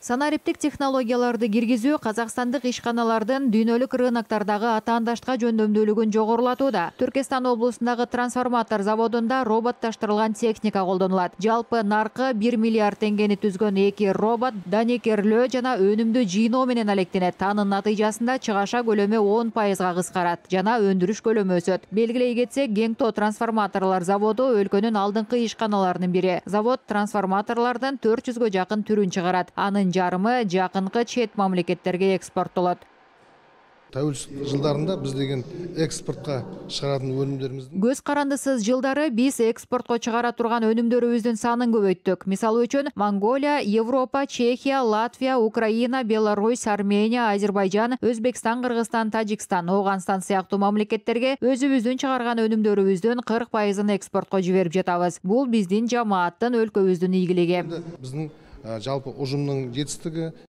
Санариптик технологияларды киргизүү казакстандык ишканалардын дүйнөлүк рыноктардагы атаандаштыкка жөндөмдүүлүгүн жогорулатууда. Түркистан облусундагы трансформатор заводунда роботташтырылган техника колдонулат. Жалпы наркы 1 миллиард теңгени түзгөн эки робот данекерлөө жана өнүмдү жыйноо менен алектенет. Анын натыйжасында чыгаша көлөмү 10% кыскарат жана өндүрүш көлөмү өсөт. Белгилей кетсек, Геңто трансформаторлор заводу өлкөнүн алдыңкы ишканаларынын бири. Завод трансформаторлордун 400гө жакын түрүн чыгарат. Анын жарымы жакынкы чет мамлекеттерге экспорттолот. Тәуелсиздик жылдарында биз деген экспортко чыгаратын өнүмдөрүбүздүн Көз карандысыз жылдары биз экспортко чыгара турган өнүмдөрүбүздүн санын көбөйттүк. Мисалы үчүн, Монголия, Европа, Чехия, Латвия, Украина, Беларусь, Армения, Азербайжан, Өзбекстан, Кыргызстан, Тажикстан, Ооганстан сыяктуу мамлекеттерге өзүбүздүн чыгарган өнүмдөрүбүздүн 40%-ын экспортко жиберип жатабыз. Бул биздин жамааттын, өлкөбүздүн ийгилиги. биздин жалпы ужумдун жетистиги.